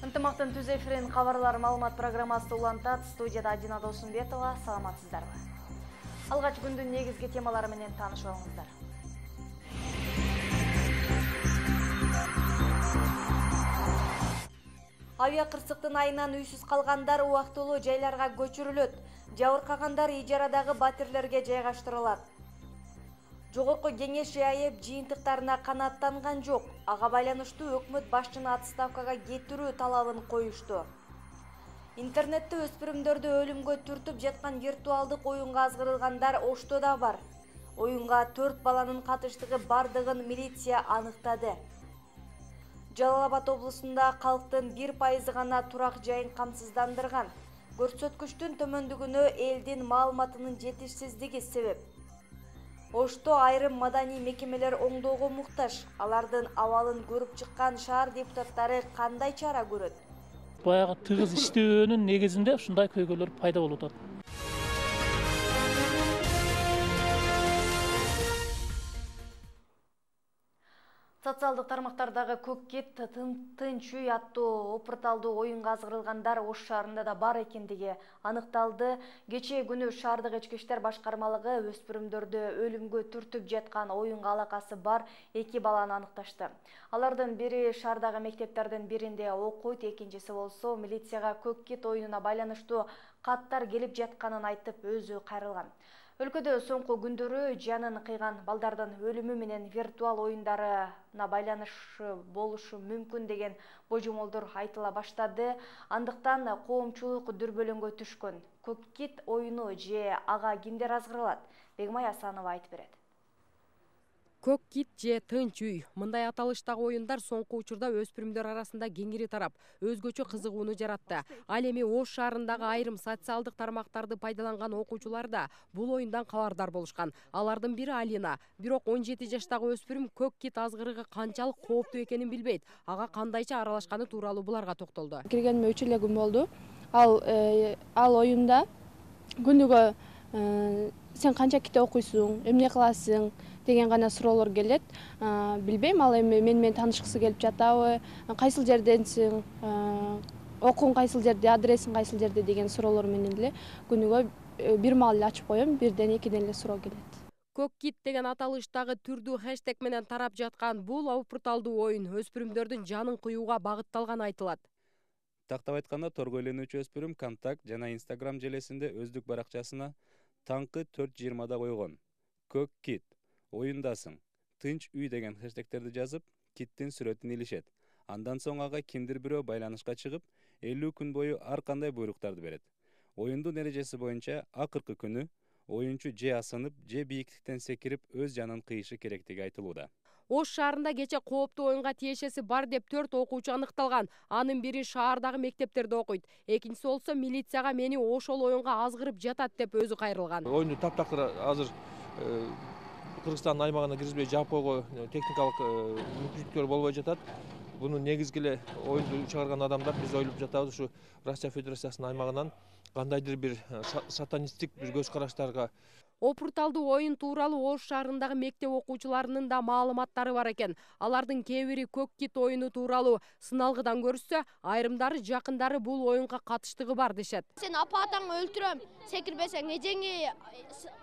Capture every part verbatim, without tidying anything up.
Ынтымактын түз эфирин кабарлар маалымат программасы улантат. Студияда Адина Досумбетова. Саламатсыздарбы? Алгач күндүн негизги темалары менен таанышып алыңыздар. Авиа кырсыктын айынан үйсүз калгандар убактылуу жайларга көчүрүлөт. Жабыркагандар ижарадагы батирлерге жайгаштырылат. Жогорку кеңеш АЭП жыйынтыктарына канааттанган жок. Ага байланыштуу өкмөт башчыны отставкага кетирүү талабын коюшту. Интернетте өспүрүмдөрдү өлүмгө түртүп жаткан виртуалдык оюнга азгырылгандар Ошто да бар. Оюнга төрт баланын катыштыгы бардыгын милиция аныктады. Жалал Абад облусунда калктын бир пайызы гана турак жайын камсыздандырган. Көрсөткүчтүн төмөндүгүнө элдин маалыматынын жетишсиздиги себеп. Ошто айрым маданий мекемелер оңдоого муктаж. Алардын абалын көрүп чыккан шаар депутаттары кандай чара көрөт? Баягы тыгыз иштөөнүн негизинде ушундай көйгөйлөр пайда болуп атат. Социалдык тармактардагы көк кит тынч үй аттуу опурталдуу оюнга азгырылгандар Ош шаарында да бар экендиги аныкталды. Кечээ күнү шаардык ички иштер башкармалыгы өспүрүмдөрдү өлүмгө түртүп жаткан оюнга алакасы бар эки баланы аныкташты. Алардын бири шаардагы мектептердин биринде окуйт, экинчиси болсо милицияга көк кит оюнуна байланыштуу каттар келип жатканын айтып өзү кайрылган. Өлкөдө соңку күндөрү жанын кыйган балдардын өлүмү менен виртуал оюндарына байланышы болушу мүмкүн деген божомолдор айтыла баштады. Андыктан коомчулук дүрбөлөңгө түшкөн. Көк кит оюну же ага кимдер азгырылат? Бегмай Асанова айтып берет. Көк кит же тынч үй. Мындай аталыштагы оюндар соңку учурда өспүрүмдөр арасында кеңири тарап, өзгөчө кызыгууну жаратты. Ал эми Ош шаарындагы айрым социалдык тармактарды пайдаланган окуучулар да бул оюндан кабардар болушкан. Алардын бири Алина. Бирок он жети жаштагы өспүрүм көк кит азгырыгы канчалык кооптуу экенин билбейт. Ага кандайча аралашканы тууралуу буларга токтолду. Киргениме үч эле күн болду. Ал ал оюнда күнүгө сен канча китеп окуйсуң, эмне кыласың деген гана суроолор келет. Билбейм, ал эми мен менен таанышкысы келип жатабы, кайсыл жерденсиң, окууң кайсыл жерде, адресиң кайсыл жерде деген суроолор менен эле күнүгө бир маал эле ачып коем, бирден экиден эле суроо келет. Көк кит деген аталыштагы түрдүү хэштег менен тарап жаткан бул опурталдуу оюн өспүрүмдөрдүн жанын кыюуга багытталганы айтылат. Тактап айтканда, торго ээленүүчү өспүрүм Контакт жана Instagram желесинде өздүк баракчасына таңкы төрт жыйырмада койгон. Көк кит, оюндасың, тынч үй деген хэштегтерди жазып, киттин сүрөтүн илишет. Андан соң ага кимдир бирөө байланышка чыгып, элүү күн бою ар кандай буйруктарды берет. Оюндун эрежеси боюнча акыркы күнү оюнчу же асынып, же бийиктиктен секирип өз жанын кыйышы керектиги айтылууда. Ош шаарында кече кооптуу оюнга тиешеси бар деп төрт окуучу аныкталган. Анын бири шаардагы мектептерде окуйт. Экинчиси болсо милицияга мени ошол оюнга азгырып жатат деп өзү кайрылган. Оюнду таптакыр азыр Кыргызстандын аймагына киргизбей жаап койго техникалык мүмкүнчүлүктөр болбой жатат. Буну негизги эле оюнду чыгарган адамдар биз ойлоп жатабыз, ушу Россия Федерациясынын аймагынан кандайдыр бир сатанисттик бир көз караштарга. Опурталдуу оюн тууралуу Ош шаарындагы мектеп окуучуларынын да маалыматтары бар экен. Алардын кээ бири көк кит оюну тууралуу сыналгыдан көрүшсө, айрымдары жакындары бул оюнга катыштыгы бар дешет. Сен апа атаңды өлтүрөм, секирбесең, эжеңи,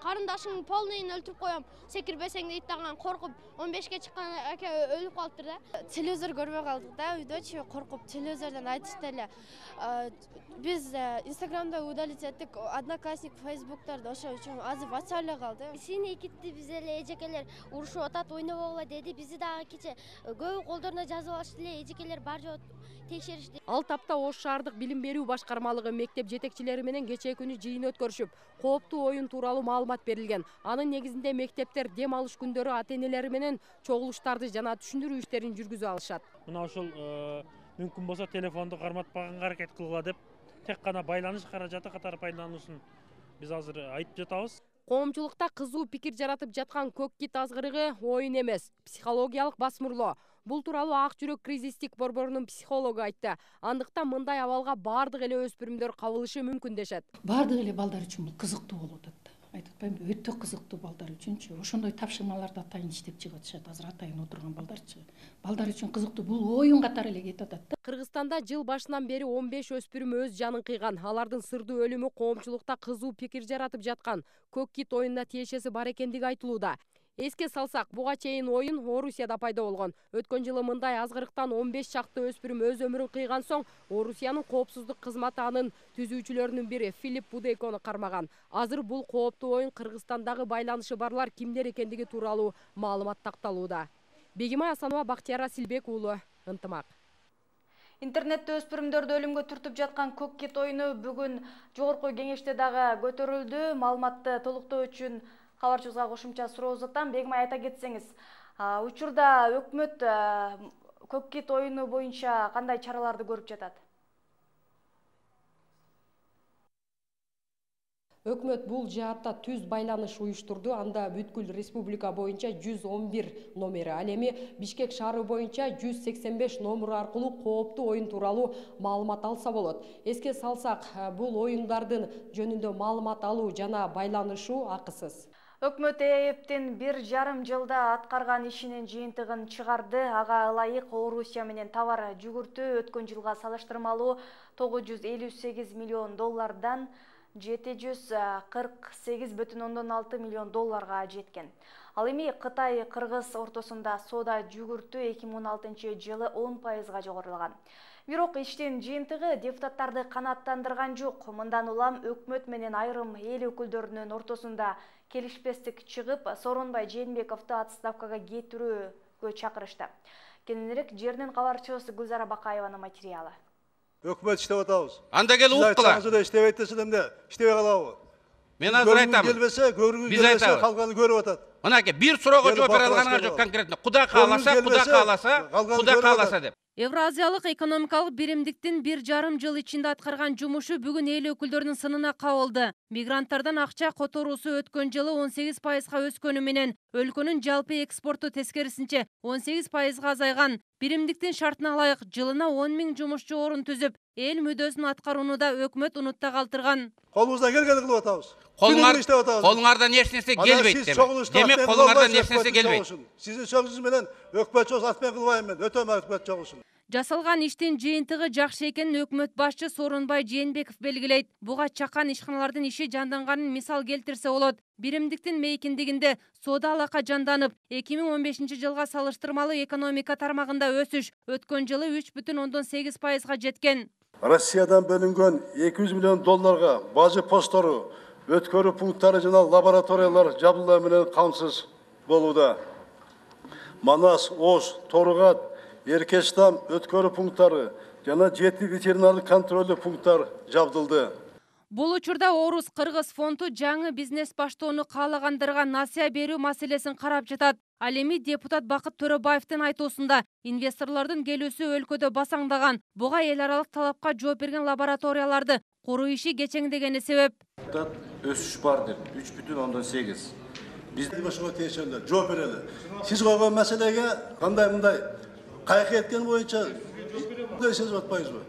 карындашыңдын полныйын өлтүрүп коем, секирбесең дейт дагы коркуп он бешке чыккан аке өлүп калыптыр да. Телевизор көрбөй калдык да, үйдөчү коркуп телевизордон айтышты эле. Биз Инстаграмда удалить эттик, Одноклассник, Фейсбукторду, ошо үчүн азыр бача эле калды. Синий китти биз эле эжекелер урушуп атат, ойнобогула деди. Бизи дагы кече көбү колдоруна жазып алышты эле, эжекелер бар жок текшеришти. Ал тапта Ош шаардык билим берүү башкармалыгы мектеп жетекчилери менен кечээ күнү жыйын өткөрүшүп, кооптуу оюн тууралуу маалымат берилген. Анын негизинде мектептер дем алыш күндөрү ата-энелери менен чогулуштарды жана түшүндүрүү иштерин жүргүзүп алышат. Мына ошол мүмкүн болсо телефонду карматпаганга аракет кылгыла деп, тек гана байланыш каражаты катары пайдалануусун биз азыр айтып жатабыз. Коомчулукта кызуу пикир жаратып жаткан көк кит азгырыгы оюн эмес, психологиялык басмырлоо. Бул тууралуу Ак жүрөк кризистик борборунун психологу айтты. Андыктан мындай абалга бардык эле өспүрүмдөр кабылышы мүмкүн дешет. Бардык эле балдар үчүн бул кызыктуу болуп атат. айтып атпаймынбы, өтө кызыктуу балдар үчүнчү. Ошондой тапшырмаларды атайын иштеп чыгып атышат. Азыр атайын отурган балдарчы. Балдар үчүн кызыктуу, бул оюн катары эле кетип атат да. Кыргызстанда жыл башынан бери он беш өспүрүм өз жанын кыйган. Алардын сырдуу өлүмү коомчулукта кызуу пикир жаратып жаткан. Көк кит оюнуна тиешеси бар экендиги айтылууда. Эске салсак, буга чейин оюн Орусияда пайда болгон. Өткөн жылы мындай азгырыктан он беш чакты өспүрүм өз өмүрүн кыйган соң, Орусиянын коопсуздук кызматы анын түзүүчүлөрүнүн бири Филипп Будейкону кармаган. Азыр бул кооптуу оюн Кыргызстандагы байланышы барлар кимдер экендиги тууралуу маалымат такталууда. Бегимай Асанова, Бактияр Асилбек уулу, Ынтымак. Интернетте өспүрүмдөрдү өлүмгө түртүп жаткан көк кит оюну бүгүн жогорку кеңеште дагы көтөрүлдү. Маалыматты толуктоо үчүн кабарчыбызга кошумча суроо узатам. Бегимай, айта кетсеңиз, учурда өкмөт көк кит оюну боюнча кандай чараларды көрүп жатат? Өкмөт бул жаатта түз байланыш уюштурду. Анда бүткүл республика боюнча жүз он бир номери, ал эми Бишкек шаары боюнча жүз сексен беш номер аркылуу кооптуу оюн тууралуу маалымат алса болот. Эске салсак, бул оюндардын жөнүндө маалымат алуу жана байланышуу акысыз. Өкмөт ЭЭПтин бир жарым жылда аткарган ишинин жыйынтыгын чыгарды. Ага ылайык Орусия менен товар жүгүртүү өткөн жылга салыштырмалуу тогуз жүз элүү сегиз миллион доллардан жети жүз кырк сегиз бүтүн ондон алты миллион долларга жеткен. Ал эми Кытай-Кыргыз ортосунда соода жүгүртүү эки миң он алтынчы жылы он пайызга жогорулаган. Бирок иштин жыйынтыгы депутаттарды канааттандырган жок. Мындан улам өкмөт менен айрым эл өкүлдөрүнүн ортосунда келишпестик чыгып, Сооронбай Жээнбековду отставкага кетирүүгө чакырышты. Кененирээк жердин кабарчыбыз Гүлзара Бакаеванын материалы. Өкмөт иштеп атабыз. Анда келип ук кыла. Сиз иштебей атасыз эмне? Иштебей калабы? Мен азыр айтам. Келбесе, көргүңүз келбесе, калганы көрүп атат. Мынакей бир суроого жооп бере алганыңар жок конкретно. Кудай кааласа, Кудай кааласа, Кудай кааласа деп. Евразиялык экономикалык биримдиктин бир жарым жыл ичинде аткарган жумушу бүгүн эл өкүлдөрүнүн сынына кабылды. Мигранттардан акча которуусу өткөн жылы он сегиз пайызга өскөнү менен өлкөнүн жалпы экспорту тескерисинче он сегиз пайызга азайган. Биримдиктин шартына ылайык жылына он миң жумушчу орун түзүп, эл мүддөсүн аткарууну да өкмөт унутта калтырган. Колубуздан келгенди кылып атабыз. Колуңардан эч нерсе келбейт демек. Демек колуңардан эч нерсе келбейт. Сиздин сөзүңүз менен өкмөт чогус ат менен кылбайм мен. Өтөм өкмөт чогусун. Жасалган иштин жыйынтыгы жакшы экенин өкмөт башчы Сооронбай Жээнбеков белгилейт. Буга чакан ишканалардын иши жанданганын мисал келтирсе болот. Биримдиктин мейкиндигинде соода алака жанданып, эки миң он бешинчи жылга салыштырмалуу экономика тармагында өсүш өткөн жылы үч бүтүн ондон сегиз пайызга жеткен. Россиядан бөлүнгөн эки жүз миллион долларга бажы посттору, өткөрүү пункттары жана лабораториялар жабдылоо менен камсыз болууда. Манас, Ош, Торгат, Эркештам өткөрүү пункттары жана жети ветеринардык контролдуу пункттар жабдылды. Бул учурда Орус Кыргыз фонду жаңы бизнес баштоону каалагандарга насыя берүү маселесин карап жатат. Ал эми депутат Бакыт Төрөбаевдин айтуусунда инвесторлордун келүүсү өлкөдө басаңдаган. Буга эл аралык талапка жооп берген лабораторияларды куруу иши кечеңдегени себеп. Өсүш бар деп үч бүтүн ондон сегиз. Биз ошого тиешелер, жооп берели. Сиз койгон маселеге кандай мындай кайкы эткен боюнча сезип атпайсызбы?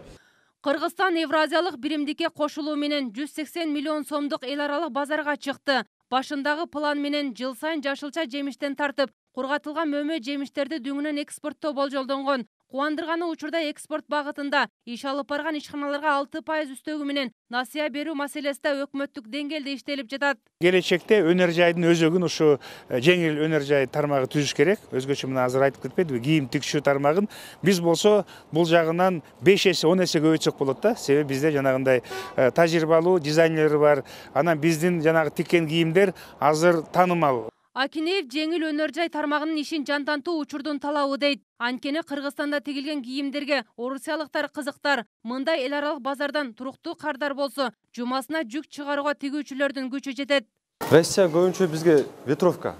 Кыргызстан Евразиялык биримдикке кошулуу менен жүз сексен миллион сомдук эл аралык базарга чыкты. Башындагы план менен жыл сайын жашылча жемиштен тартып, кургатылган мөмө жемиштерди дүңүнөн экспорттоо болжолдонгон. Кубандырганы учурда экспорт багытында иш алып барган ишканаларга алты пайыз үстөгү менен насыя берүү маселеси да өкмөттүк деңгээлде иштелип жатат. Келечекте өнөр жайдын өзөгүн ушу жеңил өнөр жай тармагы түзүш керек. Өзгөчө мына азыр айтып кетпедиби, кийим тигишүү тармагын биз болсо бул жагынан беш эсе он эсе көбөйтсөк болот да. Себеби бизде жанагындай тажрыйбалуу дизайнерлер бар. Анан биздин жанагы тиккен кийимдер азыр таанымал. Акинеев жеңил өнөр жай тармагынын ишин жандантуу учурдун талабы дейт. Анткени Кыргызстанда тигилген кийимдерге орусиялыктар кызыктар. Мындай эл аралык базардан туруктуу кардар болсо, жумасына жүк чыгарууга тигүүчүлөрдүн күчү жетет. Россия көбүнчө бизге ветровка.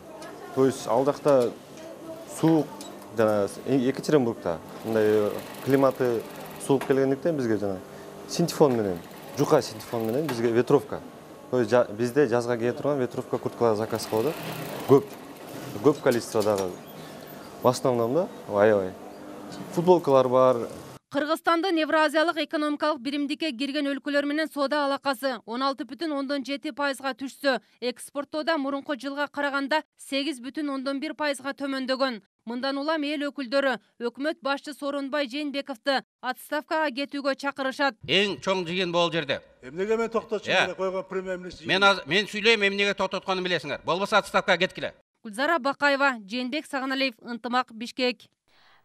То есть ал жакта суук жана Екатеринбургда мындай климаты суук келгендиктен бизге жана синтефон менен, жука синтефон менен бизге ветровка. То есть бизде жазга кие турган ветровка курткалар заказ кылып атат. Көп. Көп количестводагы. В основном да, аябай. Футболкалар бар. Кыргызстандын Евразиялык экономикалык биримдикке кирген өлкөлөр менен соода алакасы он алты бүтүн ондон жети пайызга түшсө, экспорттоодо мурунку жылга караганда сегиз бүтүн ондон бир пайызга төмөндөгөн. Мындан улам эл өкүлдөрү өкмөт башчысы Сооронбай Жээнбековду отставкага кетүүгө чакырышат. Эң чоң жыйын бул жерде. Эмнеге мен токтотчу керек койгон премьер-министр? Мен мен сүйлөйм, эмнеге токтотконун билесиңер. Болбосо отставкага кеткиле. Гүлзара Бакаева, Жээнбек Сагыналиев, Ынтымак, Бишкек.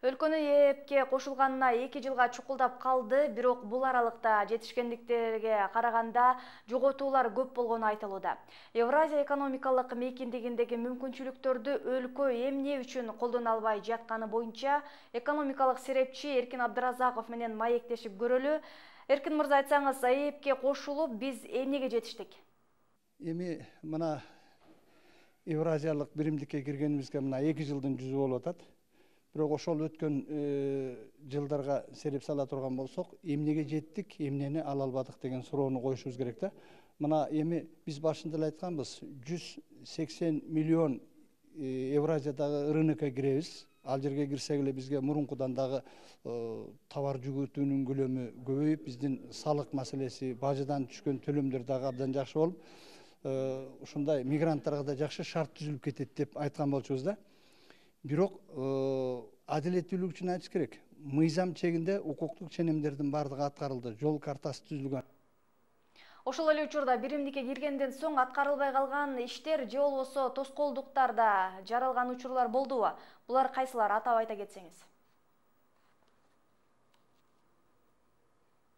Өлкөнү ээпке кошулганына эки жылга чукулдап калды, бирок бул аралыкта жетишкендиктерге караганда жоготуулар көп болгону айтылууда. Евразия экономикалык мейкиндигиндеги мүмкүнчүлүктөрдү өлкө эмне үчүн колдоно албай жатканы боюнча экономикалык серепчи Эркин Абдыразаков менен маектешип көрөлү. Эркин мырза, айтсаңыз, ээпке кошулуп биз эмнеге жетиштик? Эми мына Евразиялык биримдикке киргенибизге мына эки жылдын жүзү болуп атат. Бирок ошол өткөн жылдарга сереп сала турган болсок, эмнеге жеттик, эмнени ала албадык деген суроону коюшубуз керек да. Мына эми биз башында эле айтканбыз, жүз сексен миллион Евразиядагы рынокко киребиз. Ал жерге кирсек эле бизге мурункудан дагы товар жүгүртүүнүн көлөмү көбөйүп, биздин салык маселеси, бажыдан түшкөн төлөмдөр дагы абдан жакшы болуп, ушундай мигранттарга да жакшы шарт түзүлүп кетет деп айткан болчубуз да. Бирок адилеттүүлүк үчүн айтыш керек. Мыйзам чегинде укуктук ченемдердин бардыгы аткарылды, жол картасы түзүлгөн. Ошол эле учурда биримдикке киргенден соң аткарылбай калган иштер же болбосо тоскоолдуктарда жаралган учурлар болдубу? Булар кайсылар, атап айта кетсеңиз?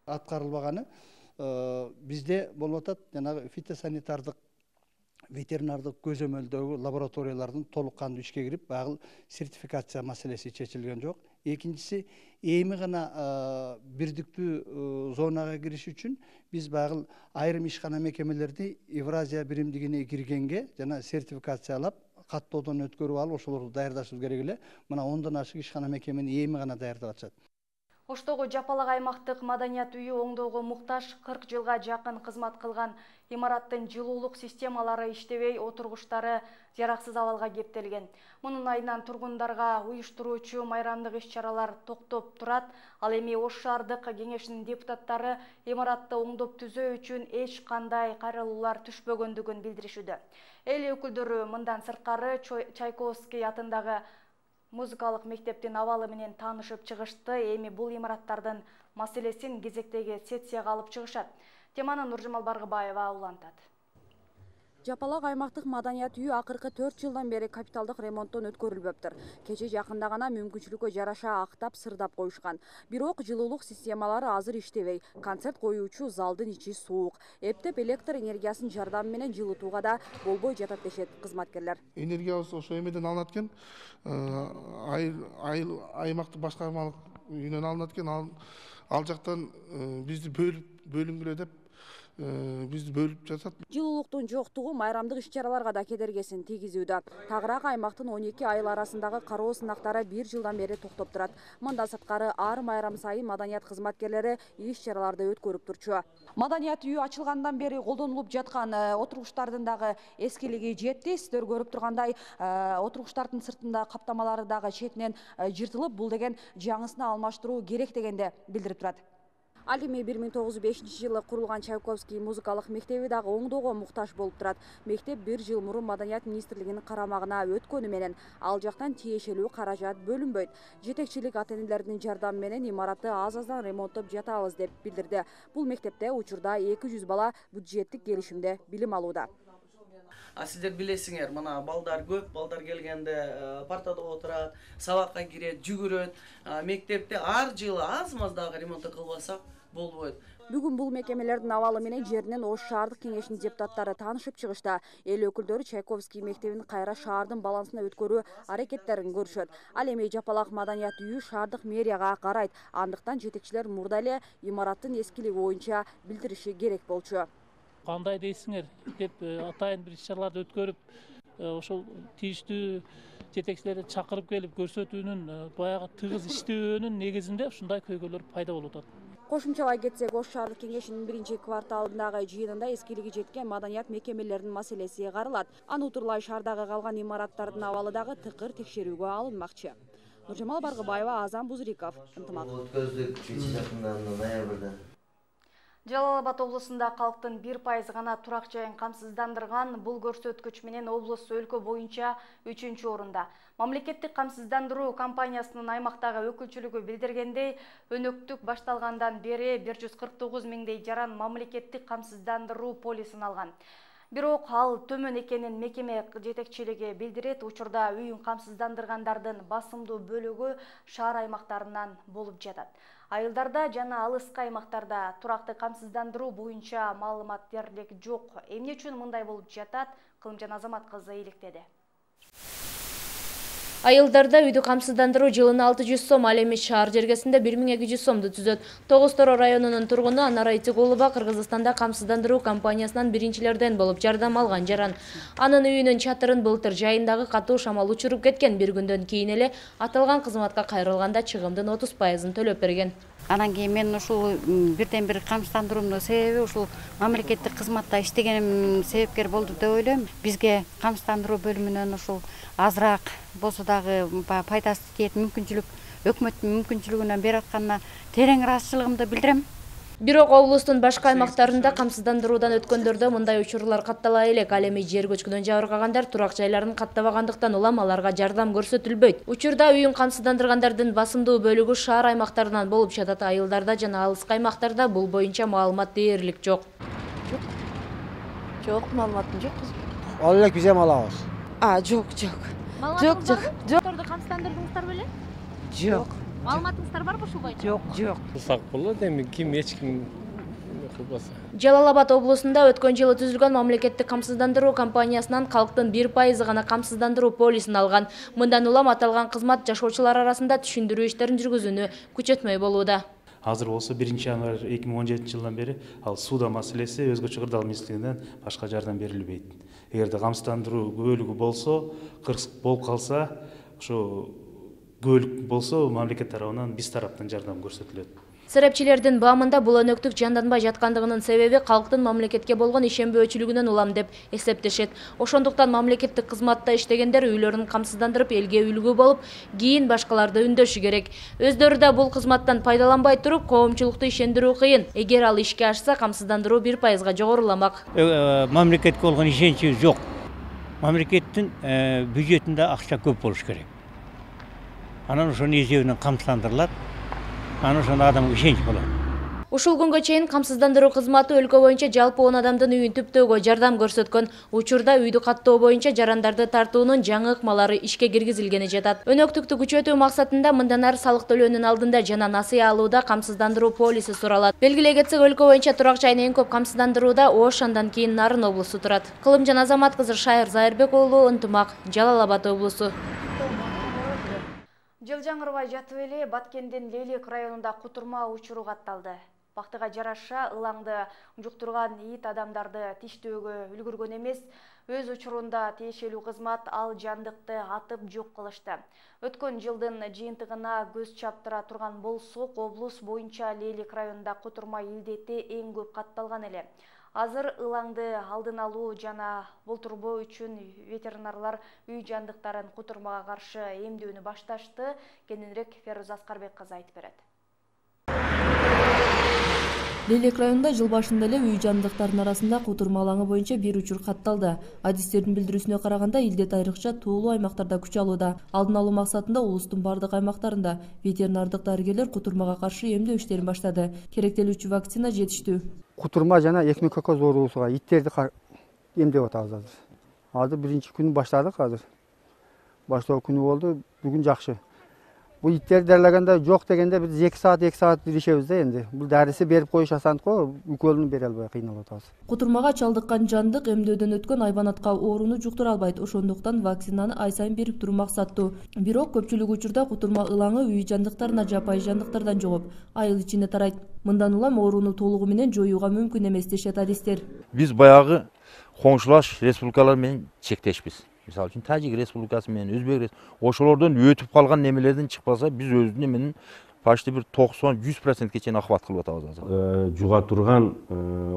Аткарылбаганы бизде болуп атат, жанагы фитосанитардык ветеринардык көзөмөлдөгү лабораториялардын толук кандуу ишке кирип, багыл сертификация маселеси чечилген жок. Экинчиси, эми гана бирдиктүү зонага кириш үчүн биз багыл айрым ишкана мекемелерди Евразия биримдигине киргенге жана сертификациялап, каттоодон өткөрүп алып, ошолорду даярдашыбыз керек эле. Мына ондон ашык ишкана мекемени эми гана даярдап атышат. Оштогу Жапалак аймактык маданият үйү оңдоого муктаж кырк жылга жакын кызмат кылган имараттын жылуулук системалары иштебей, отургучтары жараксыз абалга кептелген. Мунун айынан тургундарга уюштуруучу майрамдык иш-чаралар токтоп турат. Ал эми Ош шаардык кеңешинин депутаттары имаратты оңдоп түзөө үчүн эч кандай кайрылуулар түшпөгөндүгүн билдиришүүдө. Эл өкүлдөрү мындан сырткары Чайковский атындагы музыкалык мектептин абалы менен таанышып чыгышты. Эми бул имараттардын маселесин кезектеги сессияга алып чыгышат. Теманы Нуржамал Баргыбаева улантат. Жапалак аймактык маданият үйү акыркы төрт жылдан бери капиталдык ремонттон өткөрүлбөптүр. Кече жакында гана мүмкүнчүлүккө жараша актап, сырдап коюшкан. Бирок жылуулук системалары азыр иштебей, концерт коюучу залдын ичи суук. Эптеп электр энергиясынын жардамы менен жылытууга да болбой жатат дешет кызматкерлер. Энергиябыз ошо эмеден алынат экен, аймактык башкармалык үйүнөн алынат экен, ал жактан бизди бөлүп бөлүнгүлө деп бизди бөлүп жатат. Жылуулуктун жоктугу майрамдык иш-чараларга да кедергесин тийгизүүдө. Тагыраак аймактын он эки айыл арасындагы кароо сынактары бир жылдан бери токтоп турат. Мындан сырткары ар майрам сайын маданият кызматкерлери иш-чараларды өткөрүп турчу. Маданият үйү ачылгандан бери колдонулуп жаткан отургучтардын дагы эскилиги жетти. Сиздер көрүп тургандай, отургучтардын сыртында каптамалары дагы четинен жыртылып, бул деген жаңысын алмаштыруу керек дегенде билдирип турат. Ал эми бир миң тогуз жүз бешинчи жылы курулган Чайковский музыкалык мектеби дагы оңдоого муктаж болуп турат. Мектеп бир жыл мурун Маданият министрлигинин карамагына өткөнү менен ал жактан тиешелүү каражат бөлүнбөйт. Жетекчилик ата-энелердин жардамы менен имаратты аз-аздан ремонттоп жатабыз деп билдирди. Бул мектепте учурда эки жүз бала бюджеттик келишимде билим алууда. А сиздер билесиңер, мына балдар көп, балдар келгенде партада отурат, сабакка кирет, жүгүрөт. Мектепте ар жылы аз-маз дагы ремонт кылбасак болбойт. Бүгүн бул мекемелердин абалы менен жеринен Ош шаардык кеңешинин депутаттары таанышып чыгышта. Эл өкүлдөрү Чайковский мектебин кайра шаардын балансына өткөрүү аракеттерин көрүшөт. Ал эми Жапалак маданият үйү шаардык мэрияга карайт. Андыктан жетекчилер мурда эле имараттын эскилиги боюнча билдириши керек болчу. Кандай дейсиңер деп атайын бир иш-чараларды өткөрүп, ошол тийиштүү жетекчилерди чакырып келип көрсөтүүнүн баягы тыгыз иштөөнүн негизинде ушундай көйгөйлөр пайда болуп атат. Кошумчалай кетсек, Ош шаардык кеңешинин биринчи кварталындагы жыйынында эскилиги жеткен маданият мекемелеринин маселеси каралат. Аны утурлай шаардагы калган имараттардын абалы дагы тыкыр текшерүүгө алынмакчы. Нуржамал Баргыбаева, Азан Бузриков, ынтымак. Өткөздүк үч жакында ноябрда. Жалал Абад облусунда калктын бир пайыз гана турак жайын камсыздандырган, бул көрсөткүч менен облус өлкө боюнча үчүнчү орунда. Мамлекеттик камсыздандыруу компаниясынын аймактагы өкүлчүлүгү билдиргендей, өнөктүк башталгандан бери бир жүз кырк тогуз миңдей жаран мамлекеттик камсыздандыруу полисин алган. Бирок ал төмөн экенин мекеме жетекчилиги билдирет. Учурда үйүн камсыздандыргандардын басымдуу бөлүгү шаар аймактарынан болуп жатат. Айылдарда жана алыскы аймактарда туракты камсыздандыруу боюнча маалымат дерлик жок. Эмне үчүн мындай болуп жатат? Кылымжан Азамат кызы иликтеди. Айылдарда үйдү камсыздандыруу жылына алты жүз сом, ал эми шаар жергесинде бир миң эки жүз сомду түзөт. Тогуз Тороо районунун тургуну Анара Итигулова Кыргызстанда камсыздандыруу компаниясынан биринчилерден болуп жардам алган жаран. Анын үйүнүн чатырын былтыр жайындагы катуу шамал учуруп кеткен. Бир күндөн кийин эле аталган кызматка кайрылганда чыгымдын отуз пайызын төлөп берген. Анан кийин мен ушул бирден бир камсыздандыруунун себеби ушул мамлекеттик кызматта иштегеним себепкер болду деп ойлойм. Бизге камсыздандыруу бөлүмүнөн ушул азыраак болсо дагы пайдасы тиет мүмкүнчүлүк өкмөттүн мүмкүнчүлүгүнөн берип атканына терең ыраазычылыгымды билдирем. Бирок облустун башка аймактарында камсыздандыруудан өткөндөрдө мындай учурлар каттала элек. Ал эми жер көчкүнөн жабыркагандар турак жайларын каттабагандыктан улам аларга жардам көрсөтүлбөйт. Учурда үйүн камсыздандыргандардын басымдуу бөлүгү шаар аймактарынан болуп жатат. Айылдарда жана алыскы аймактарда бул боюнча маалымат дээрлик жок. Жок. Жок, маалыматым жок. Ал элек биз эми алабыз. А, жок, жок. Жок, жок. Жокторду камсыздандырдыңыздар беле? Жок. Маалыматыңыздар барбы ушул боюнча? Жок, жок. Кылсак болот, эми ким эч ким кылбаса. Жалал Абад облусунда өткөн жылы түзүлгөн мамлекеттик камсыздандыруу компаниясынан калктын бир пайызы гана камсыздандыруу полисин алган. Мындан улам аталган кызмат жашоочулар арасында түшүндүрүү иштерин жүргүзүүнү күчөтмөй болууда. Азыр болсо биринчи январь эки миң он жетинчи жылдан бери ал сууда маселеси өзгөчө кырдаал министрлигинен башка жардам берилбейт. Эгерде камсыздандыруу бөлүгү болсо, кырсык болуп калса, ошо көөлүк болсо мамлекет тарабынан биз тараптан жардам көрсөтүлөт. Серепчилердин баамында бул өнөктүк жанданбай жаткандыгынын себеби калктын мамлекетке болгон ишенбөөчүлүгүнөн улам деп эсептешет. Ошондуктан мамлекеттик кызматта иштегендер үйлөрүн камсыздандырып элге үлгү болуп, кийин башкаларды үндөшү керек. Өздөрү да бул кызматтан пайдаланбай туруп, коомчулукту ишендирүү кыйын. Эгер ал ишке ашса, камсыздандыруу бир пайызга жогоруламак. Мамлекетке болгон ишеничибиз жок. Мамлекеттин бюджетинде акча көп болуш керек. Анан ошонун эсебинен камсыздандырылат. Анан ошондо адамга ишенич болот. Ушул күнгө чейин камсыздандыруу кызматы өлкө боюнча жалпы он адамдын үйүн түптөөгө жардам көрсөткөн. Учурда үйдү каттоо боюнча жарандарды тартуунун жаңы ыкмалары ишке киргизилгени жатат. Өнөктүктү күчөтүү максатында мындан ары салык төлөөнүн алдында жана насыя алууда камсыздандыруу полиси суралат. Белгилей кетсек, өлкө боюнча турак жайын эң көп камсыздандырууда Ош, андан кийин Нарын облусу турат. Кылымжан Азамат кызы, Шайыр Зайырбек уулу, ынтымак, Жалал Абад облусу. Жылжаңырбай жатып эле Баткендин Лейлек районунда кутурма учуру катталды. Бактыга жараша ылаңды жуктурган ит адамдарды тиштөөгө үлгүргөн эмес, өз учурунда тиешелүү кызмат ал жандыкты атып жок кылышты. Өткөн жылдын жыйынтыгына көз чаптыра турган болсок, облус боюнча Лейлек районунда кутурма илдети эң көп катталган эле. Азыр ылаңды алдын алуу жана болтурбоо үчүн ветеринарлар үй жандыктарын кутурмага каршы эмдөөнү башташты. Кененирээк Феруз Аскарбек кызы айтып берет. Лейлек районунда жыл башында эле үй жандыктарынын арасында кутурма алаңы боюнча бир учур катталды. Адистердин билдирүүсүнө караганда, илдет айрыкча туулуу аймактарда күч алууда. Алдын алуу максатында улустун бардык аймактарында ветеринардык дарыгерлер кутурмага каршы эмдөө иштерин баштады. Керектелүүчү вакцина жетиштүү. Кутурма жана экмекокоз оорусуга иттерди эмдеп атабыз азыр. Азыр биринчи күнү баштадык азыр. Баштоо күнү болду, бүгүн жакшы. Бул иттерди дарылаганда жок дегенде биз эки саат эки саат иришебиз да энди. Бул дарысы берип коюш асандык го, уколун бере албай кыйналып атабыз. Кутурмага чалдыккан жандык эмдөөдөн өткөн айбанатка ооруну жуктура албайт. Ошондуктан вакцинаны ай сайын берип туруу максаттуу. Бирок көпчүлүк учурда кутурма ылаңы үй жандыктарына жапайы жандыктардан жугуп, айыл ичине тарайт. Мындан улам ооруну толугу менен жоюуга мүмкүн эмес дешет адистер. Биз баягы коңшулаш республикалар менен чектешпиз. Мисалы үчүн Тажик республикасы менен Өзбек республикасы, ошолордон өтүп калган немелерден чыкпаса, биз өзүнүн менен почти бир токсон жүз процентке чейин охват кылып атабыз азыр. Жуга турган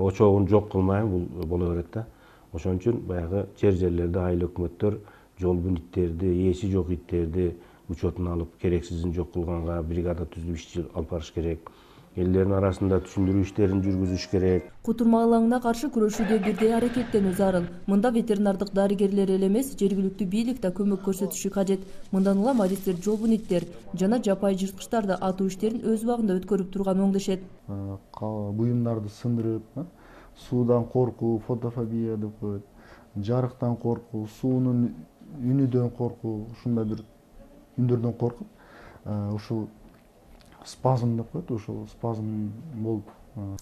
очогун жок кылмайын, бул боло берет да. Ошон үчүн баягы жер жерлерде айыл өкмөттөр жол бүнүттөрдү, ээси жок иттерди, учетуна алып, керексизин жок кылганга бригада түзүп иш алып барыш керек. Элдердин арасында түшүндүрүү иштерин жүргүзүш керек. Кутурма алаңына каршы күрөшүүдө бирдей аракеттенүү зарыл. Мында ветеринардык дарыгерлер эле эмес, жергиликтүү бийлик да көмөк көрсөтүшү кажет. Мындан улам адистер жолбун иттер жана жапайы жырткычтарды атуу иштерин өз убагында өткөрүп турган оңдошет. Буюмдарды сындырып, суудан коркуу, фотофобия деп коет. Жарыктан коркуу, суунун үнүдөн коркуу, ушундай бир үндөрдөн коркуп, ушул спазм деп коет, ушул спазм болуп.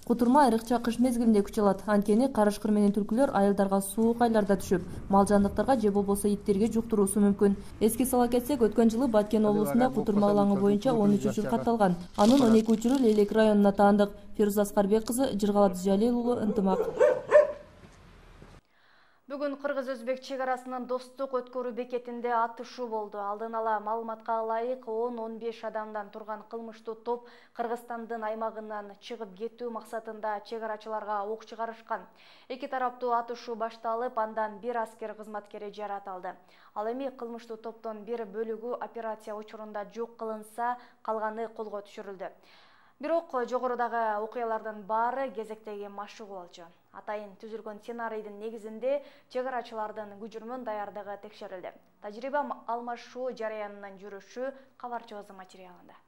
Кутурма айрыкча кыш мезгилинде күч алат. Анткени карышкыр менен түлкүлөр айылдарга суук айларда түшүп, мал жандыктарга же болбосо иттерге жуктуруусу мүмкүн. Эске сала кетсек, өткөн жылы Баткен облусунда кутурма алаңы боюнча он үч учур катталган. Анын он эки учуру Лелек районуна таандык. Фируза Аскарбек кызы, Жыргалат Жалил уулу, Ынтымак. Бүгүн Кыргыз-Өзбек чек арасынын достук өткөрүү бекетинде атышуу болду. Алдын ала маалыматка ылайык он он беш адамдан турган кылмыштуу топ Кыргызстандын аймагынан чыгып кетүү максатында чек арачыларга ок чыгарышкан. Эки тараптуу атышуу башталып, андан бир аскер кызматкери жаракат алды. Ал эми кылмыштуу топтон бир бөлүгү операция учурунда жок кылынса, калганы колго түшүрүлдү. Бирок жогорудагы окуялардын баары кезектеги машыгуу болчу. Атайын түзүлгөн сценарийдин негизинде чек арачылардын күжүрмөн даярдыгы текшерилди. Тажрыйба алмашуу жараянынын жүрүшү кабарчыбыздын материалында.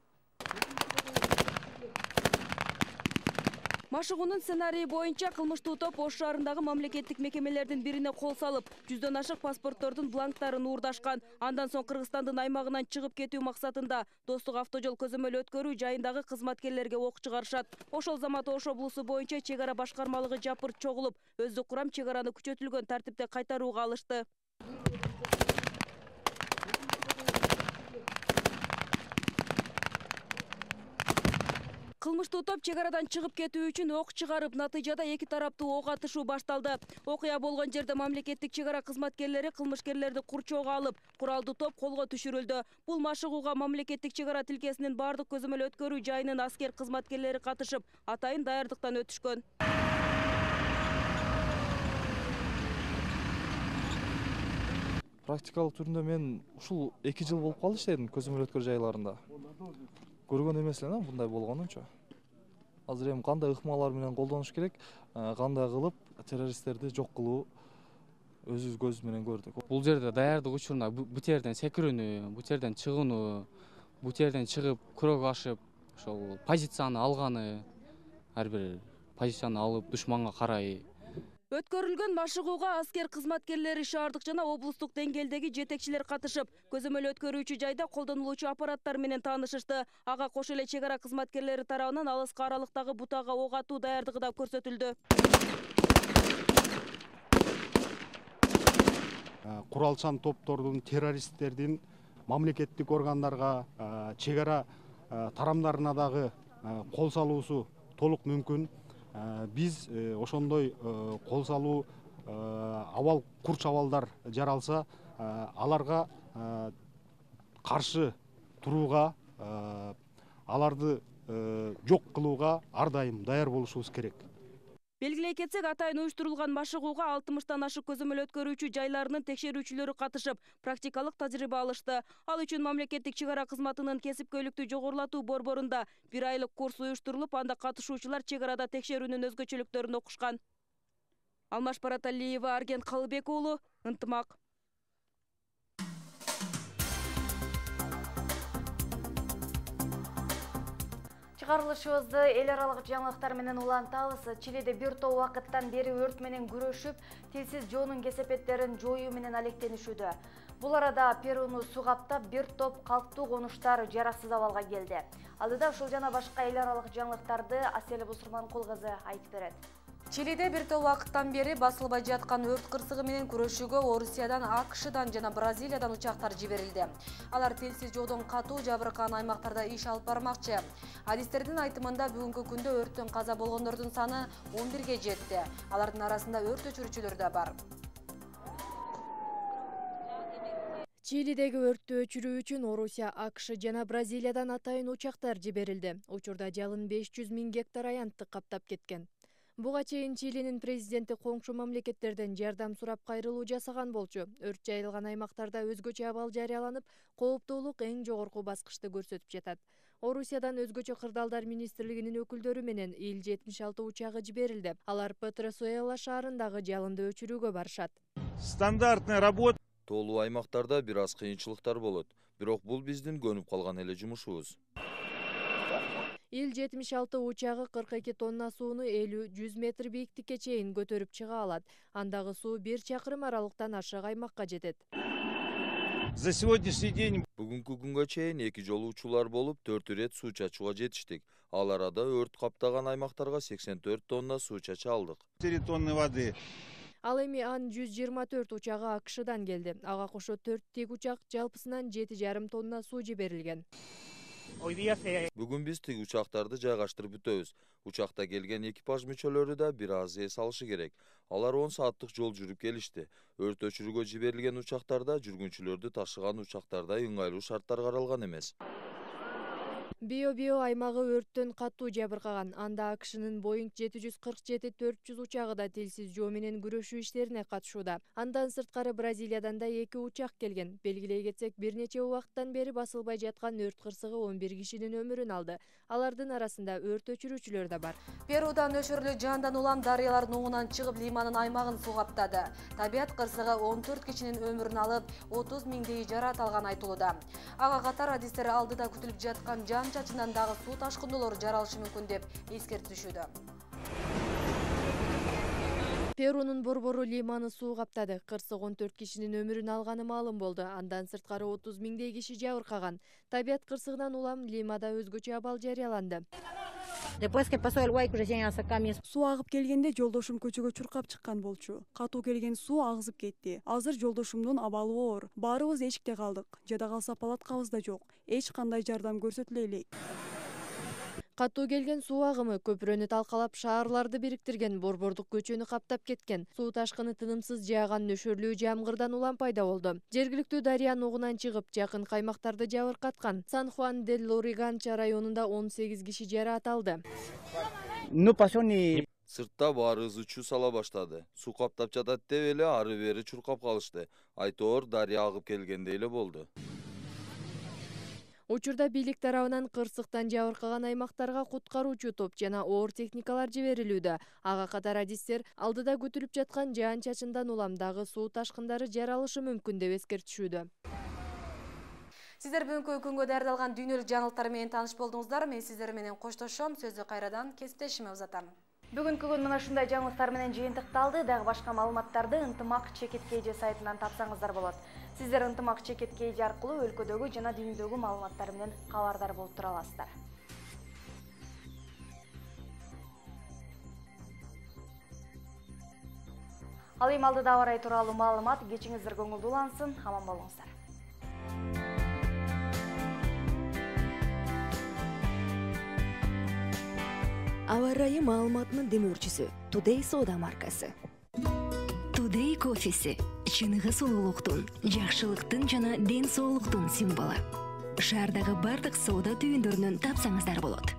Машыгуунун сценарийи боюнча кылмыштуу топ Ош шаарындагы мамлекеттик мекемелердин бирине кол салып, жүздөн ашык паспорттордун бланктарын уурдашкан. Андан соң Кыргызстандын аймагынан чыгып кетүү максатында достук автожол көзөмөл өткөрүү жайындагы кызматкерлерге ок чыгарышат. Ошол замат Ош облусу боюнча чек ара башкармалыгы жапырт чогулуп, өздүк курам чек араны күчөтүлгөн тартипте кайтарууга алышты. Кылмыштуу топ чек арадан чыгып кетүү үчүн ок чыгарып, натыйжада эки тараптуу ок атышуу башталды. Окуя болгон жерде мамлекеттик чек ара кызматкерлери кылмышкерлерди курчоого алып, куралдуу топ колго түшүрүлдү. Бул машыгууга мамлекеттик чек ара тилкесинин бардык көзөмөл өткөрүү жайынын аскер кызматкерлери катышып, атайын даярдыктан өтүшкөн. Практикалык түрүндө мен ушул эки жыл болуп калды иштедим көзөмөл өткөрүү жайларында. Көргөн эмес элем мындай болгонунчу. Азыр эми кандай ыкмалар менен колдонуш керек, кандай кылып террористтерди жок кылуу өзүбүз көзүбүз менен көрдүк. Бул жерде даярдык учуруна бут жерден секирүүнү, бут жерден чыгууну, бут жерден чыгып күрөк ашып, ошол позицияны алганы, ар бир позицияны алып душманга карай. Өткөрүлгөн машыгууга аскер кызматкерлери шаардык жана облустук деңгээлдеги жетекчилер катышып, көзөмөл өткөрүүчү жайда колдонулуучу аппараттар менен таанышышты. Ага кошо эле чек ара кызматкерлери тарабынан алыска аралыктагы бутага ок атуу даярдыгы да көрсөтүлдү. Куралчан топтордун, террористтердин мамлекеттик органдарга, чек ара тарамдарына дагы кол салуусу толук мүмкүн. Биз ошондой кол салуу абал курч абалдар жаралса, аларга каршы турууга, аларды жок кылууга ар дайым даяр болушубуз керек. Белгилей кетсек, атайын уюштурулган машыгууга алтымыштан ашык көзөмөл өткөрүүчү жайларынын текшерүүчүлөрү катышып, практикалык тажрыйба алышты. Ал үчүн мамлекеттик чек ара кызматынын кесипкөйлүктү жогорулатуу борборунда бир айлык курс уюштурулуп, анда катышуучулар чек арада текшерүүнүн өзгөчөлүктөрүн окушкан. Алмаш Бараталиева, Арген Калыбек уулу, Ынтымак. Чыгарылышыбызды эл аралык жаңылыктар менен улантабыз. Чилиде бир топ убакыттан бери өрт менен күрөшүп, тилсиз жоонун кесепеттерин жоюу менен алектенишүүдө. Бул арада Перуну суу каптап, бир топ калктуу конуштар жараксыз абалга келди. Алдыда ушул жана башка эл аралык жаңылыктарды Асель Бусурманкул кызы айтып берет. Чилиде бир топ убакыттан бери басылбай жаткан өрт кырсыгы менен күрөшүүгө Орусиядан, АКШдан жана Бразилиядан учактар жиберилди. Алар тилсиз жоодон катуу жабыркаган аймактарда иш алып бармакчы. Адистердин айтымында бүгүнкү күндө өрттөн каза болгондордун саны он бирге жетти. Алардын арасында өрт өчүрүүчүлөр да бар. Чилидеги өрттү өчүрүү үчүн Орусия, АКШ жана Бразилиядан атайын учактар жиберилди. Учурда жалын беш жүз миң гектар аянтты каптап кеткен. Буга чейин Чилинин президенти коңшу мамлекеттерден жардам сурап кайрылуу жасаган болчу. Өрт жайылган аймактарда өзгөчө абал жарыяланып, кооптуулук эң жогорку баскычты көрсөтүп жатат. Орусиядан өзгөчө кырдаалдар министрлигинин өкүлдөрү менен Ил жетимиш алты учагы жиберилди. Алар Петросуэла шаарындагы жалынды өчүрүүгө барышат. Стандартный работа. Тоолуу аймактарда бир аз кыйынчылыктар болот, бирок бул биздин көнүп калган эле жумушубуз. Ил жетимиш алты учагы кырк эки тонна сууну элүү жүз метр бийиктикке чейин көтөрүп чыга алат. Андагы суу бир чакырым аралыктан ашык аймакка жетет. За сегодняшний день Бүгүнкү күнгө чейин эки жолу учуулар болуп, төрт ирет суу чачууга жетиштик. Ал арада өрт каптаган аймактарга сексен төрт тонна суу чача алдык. четыре тонны воды. Ал эми Ан жүз жыйырма төрт учагы АКШдан келди. Ага кошо төрт тигучак жалпысынан жети жарым тонна суу жиберилген. Бүгүн биз тиг учактарды жайгаштырып бүтөбүз. Учакта келген экипаж мүчөлөрү да бир аз эс алышы керек. Алар он сааттык жол жүрүп келишти. Өрт өчүрүүгө жиберилген учактарда жүргүнчүлөрдү ташыган учактардай ыңгайлуу шарттар каралган эмес. Био-био аймагы өрттөн катуу жабыркаган. Анда АКШнын Боинг жети жүз кырк жети төрт жүз учагы да тилсиз жоо менен күрөшүү иштерине катышууда. Андан сырткары Бразилиядан да эки учак келген. Белгилей кетсек, бир нече убакыттан бери басылбай жаткан өрт кырсыгы он бир кишинин өмүрүн алды. Алардын арасында өрт өчүрүүчүлөр да бар. Перудан өчүрүлүү жандан улам дарыялардын оңунан чыгып Лиманын аймагын суу каптады. Табият кырсыгы он төрт кишинин өмүрүн алып, отуз миңдей жараат алган айтылууда. Ага катар адистер алдыда күтүлүп жаткан жан чачынан дагы суу ташкындоолору жаралышы мүмкүн деп эскертишүүдө. Перунун борбору Лиманы суу каптады. Кырсык он төрт кишинин өмүрүн алганы маалым болду. Андан сырткары отуз миңдей киши жабыркаган. Табият кырсыгынан улам Лимада өзгөчө абал жарыяланды. Суу агып келгенде жолдошум көчөгө чуркап чыккан болчу. Катуу келген суу агызып кетти. Азыр жолдошумдун абалы оор. Баарыбыз эшикте калдык. Жада калса палаткабыз да жок. Эч кандай жардам көрсөтүлө элек. Катуу келген суу агымы көпүрөнү талкалап шаарларды бириктирген, борбордук көчөнү каптап кеткен. Суу ташкыны тынымсыз жааган нөшөрлүү жамгырдан улам пайда болду. Жергиликтүү дарыянын угунан чыгып, жакын каймактарды жабыркаткан. Сан-Хуан-дель-Лориганча районунда он сегиз киши жараат алды. Сыртта баары ызы-чуу сала баштады. Суу каптап жатат деп эле ары бери чуркап калышты. Айтоор дарыя агып келгендей эле болду. Учурда бийлик тарабынан кырсыктан жабыркаган аймактарга куткаруучу топ жана оор техникалар жиберилүүдө. Ага катар адистер алдыда күтүлүп жаткан жаан чачындан улам дагы суу ташкындары жаралышы мүмкүн деп эскертишүүдө. Сиздер бүгүнкү күнгө даярдалган дүйнөлүк жаңылыктар менен тааныш болдуңуздар. Мен сиздер менен коштошом. Сөздү кайрадан кесиптешиме узатам. Бүгүнкү күн мына ушундай жаңылыктар менен жыйынтыкталды. Дагы башка маалыматтарды Ынтымак Чекиткейже сайтынан тапсаңыздар болот. Сиздер Ынтымак Чекиткейже аркылуу өлкөдөгү жана дүйнөдөгү маалыматтар менен кабардар болуп тура аласыздар. Ал эми алдыда аба ырайы тууралуу маалымат. Кечиңиздер көңүлдүүлансын. Аман болуңуздар. Аба ырайы маалыматынын демөөрчүсү Today Soda маркасы. Today кофеси чыныгы сулуулуктун, жакшылыктын жана ден соолуктун символу. Шаардагы бардык соода түйүндөрүнөн тапсаңыздар болот.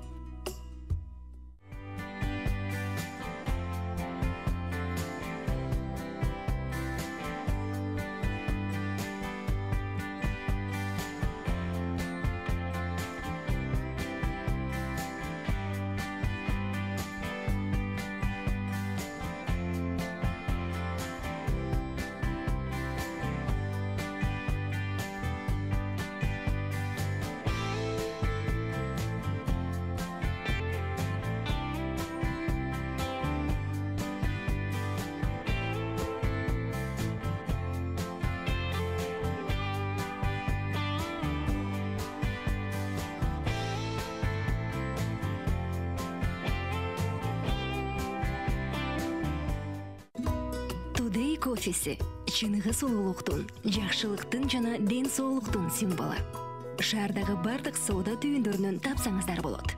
Today кофеси чыныгы сулуулуктун, жакшылыктын жана ден соолуктун символу. Шаардагы бардык соода түйүндөрүнөн тапсаңыздар болот.